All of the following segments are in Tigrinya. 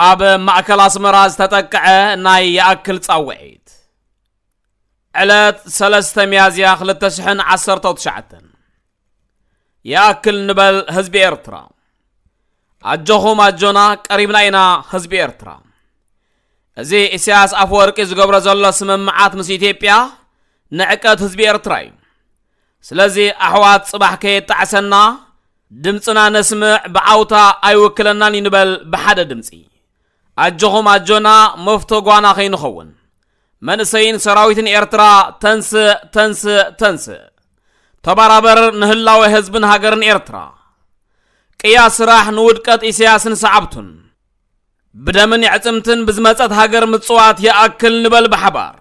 ኣብ ማእከል ኣስመራ ዝተጠቅዐ ናይ ይኣክል ጻውዒት። ዕለት ሰለስተ ሚያዝያ ክልተ ሽሕን ዓሰርተው ትሽዓተን። ይኣክል ንበል ህዝቢ ኤርትራ። ኣጆኹም ኣጆና ቀሪብና ኢና ህዝቢ ኤርትራ። እዚ ኢሳያስ ኣፈወርቂ ዝገብሮ ዘሎ ስምምዓት ምስ ኢትዮጵያ ንዕቀት ህዝቢ ኤርትራ እዩ። ስለዚ ኣሕዋት ጽባሕ ከየጣዕሰና ድምጽና ነስምዕ፣ ብዓውታ ኣይውክለናን እዩ ንበል ብሓደ ድምጺ። ኣጆኹም ኣጆና መፍቶ ጓና ከይንኸውን። መንእሰይን ሰራዊትን ኤርትራ ተንስእ፣ ተንስእ፣ ተንስእ። ተባራበር ንህላወ ህዝብን ሃገርን ኤርትራ። ቅያ ስራሕ ንውድቀት ኢሳያስን ሰዓብቱን። ብደምን የዕጽምትን ብዝመጸት ሃገር ምጽዋት ይኣክል ንበል ብሓባር።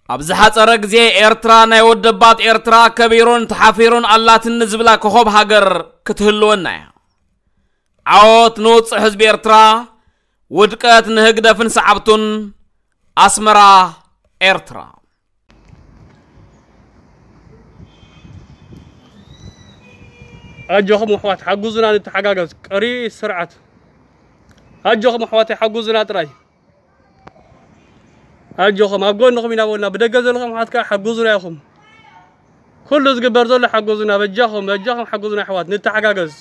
ኣብ ዝሓጸረ ግዜ ኤርትራ ናይ ወደባት ኤርትራ ከቢሩን ተሓፊሩን ኣላትኒ ዝብላ ኮኾብ ሃገር ክትህልወና እያ። ዓወት ንውጹዕ ህዝቢ ኤርትራ፣ ውድቀት ንህግደፍን ሰዓብቱን። ኣስመራ፣ ኤርትራ። ኣጆኹም ኣሕዋት ሓጉዙና ንተሓጋገዝ። ቀሪ ስርዓት ኣጆኹም ኣሕዋት ሓጉዙና ጥራይ። ኣጆኹም ኣብ ጎንኹም ኢና በልና። ብደገ ዘለኹም ኣሕዋት ከኣ ሓጉዙና ኢኹም። ኩሉ ዝግበር ዘሎ ሓጉዙና፣ በጃኹም፣ በጃኹም ሓጉዙና ኣሕዋት፣ ንተሓጋገዝ።